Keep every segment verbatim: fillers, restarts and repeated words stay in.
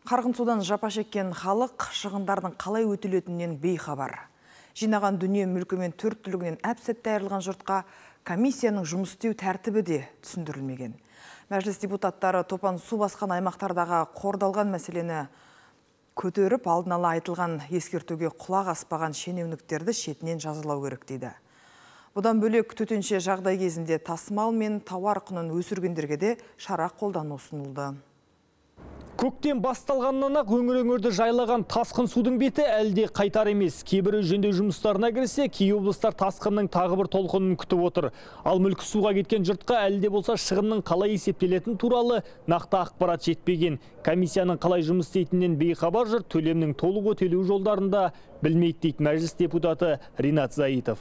Қарғын судан жапа шеккен халық шығындардың қалай өтелетінен бейхабар. Жинаған дүние мүлкімен төрт түлігінен әп-сәтте айырылған жұртқа комиссияның жұмыс істеу тәртібі де түсіндірілмеген. Мәжіліс депутаттары топан су басқан аймақтардағы қордалған мәселені көтеріп, алдын ала айтылған ескертуге құлақ аспаған шенеуніктерді шетінен жазалау керек дейді. Бұдан бөлек төтенше жағдай кезінде тасымал мен тауар құнын өсіргендерге де шара қолдану ұсынылды. Көктем басталғаннан ақ өңір-өңірді жайлаған тасқын судың беті әлде қайтар емес. Кейбірі жөндеу жұмыстарына кірсе, кей облыстар тасқынның тағы бір толқынын күтіп отыр. Ал мүлкі суға кеткен жұртқа әлде болса шығынның қалай есептелетін туралы нақты ақпарат жетпеген. Комиссияның қалай жұмыс істейтінен бейхабар жұрт төлемнің толық өтелу жолдарында білмейді дейді мәжіліс депутаты Ринат Заитов.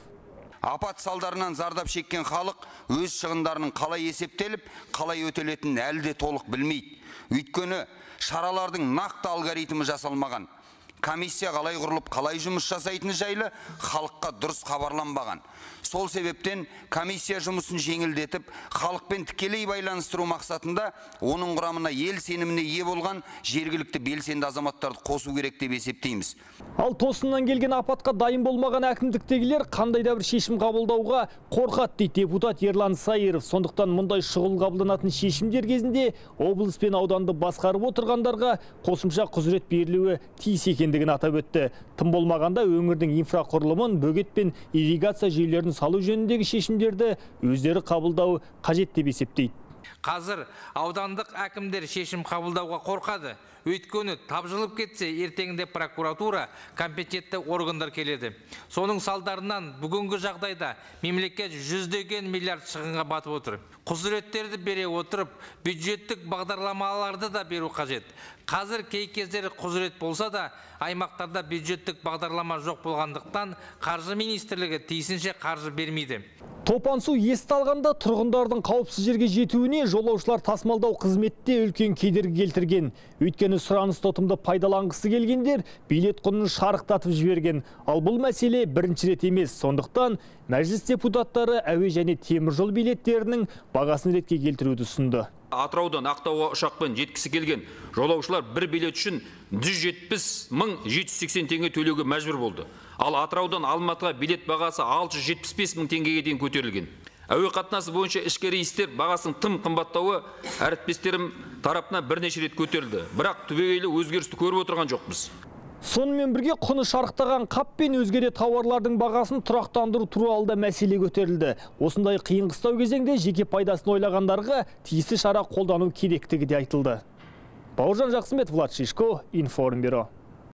Апат салдарынан зардап шеккен халық өз шығындарының қалай есептеліп, қалай өтелетінін әлі де толық білмейді. Өйткені шаралардың нақты алгоритмі жасалмаған. Комиссия қалай құрылып, қалай жұмыс жасайтыны жайлы халыққа дұрыс хабарланбаған. Сол себептен комиссия жұмысын жеңілдетіп, халықпен тікелей байланыстыру мақсатында оның құрамына ел сеніміне ие болған жергілікті белсенді азаматтарды қосу керек деп есептейміз. Ал тосыннан келген апатқа дайын болмаған әкімдіктегілер қандай да бір шешім қабылдауға қорқады дейді депутат Ерлан Сайыров. Сондықтан мұндай шұғыл қабылданатын шешімдер кезінде облыс пен ауданды басқарып отырғандарға қосымша құзырет берілуі тиіс екендігін атап өтті. Тым болмағанда өңірдің инфрақұрылымын, бөгет пен ирригация жүйелерін салу жөніндегі шешімдерді өздері қабылдау қажет деп есептейді. Қазір аудандық әкімдер шешім қабылдауға қорқады. Өйткені тапжылып кетсе, ертеңінде прокуратура, компетентті органдар келеді. Соның салдарынан бүгінгі жағдайда мемлекет жүздеген миллиард шығынға батып отыр. Құзыреттерді бере отырып, бюджеттік бағдарламаларды да беру қажет. Қазір кей кездері құзырет болса да, аймақтарда бюджеттік бағдарлама жоқ болғандықтан қаржы министрлігі тиісінше қаржы бермейді. Топан су есті алғанда тұрғындардың қауіпсіз жерге жетуіне жолаушылар тасымалдау қызметте үлкен кедергі келтірген. Өйткені сұраныс тотымды пайдаланғысы келгендер билет құнын шарықтатып жіберген. Ал бұл мәселе бірінші рет емес. Сондықтан мәжіліс депутаттары әуе және теміржол билеттерінің бағасын ретке келтіруді ұсынды. Атыраудан Ақтауға ұшақпен жеткісі келген жолаушылар бір билет үшін жүз жетпіс мың жеті жүз сексен теңге төлеуге мәжбүр болды. Ал Атыраудан Алматыға билет бағасы алты жүз жетпіс бес мың теңгеге дейін көтерілген. Әуе қатынасы бойынша ішкі рейстер бағасының тым қымбаттауы әріптестерім тарапынан бірнеше рет көтерілді. Бірақ түбегейлі өзгерісті көріп отырған жоқпыз. Сонымен бірге құны шарықтаған қап пен өзге де тауарлардың бағасын тұрақтандыру туралы да мәселе көтерілді. Осындай қиын қыстау кезеңде жеке пайдасын ойлағандарға тиісті шара қолдану керектігі де айтылды. Бауыржан Жақсымбет, Влад Шишко, Информбюро.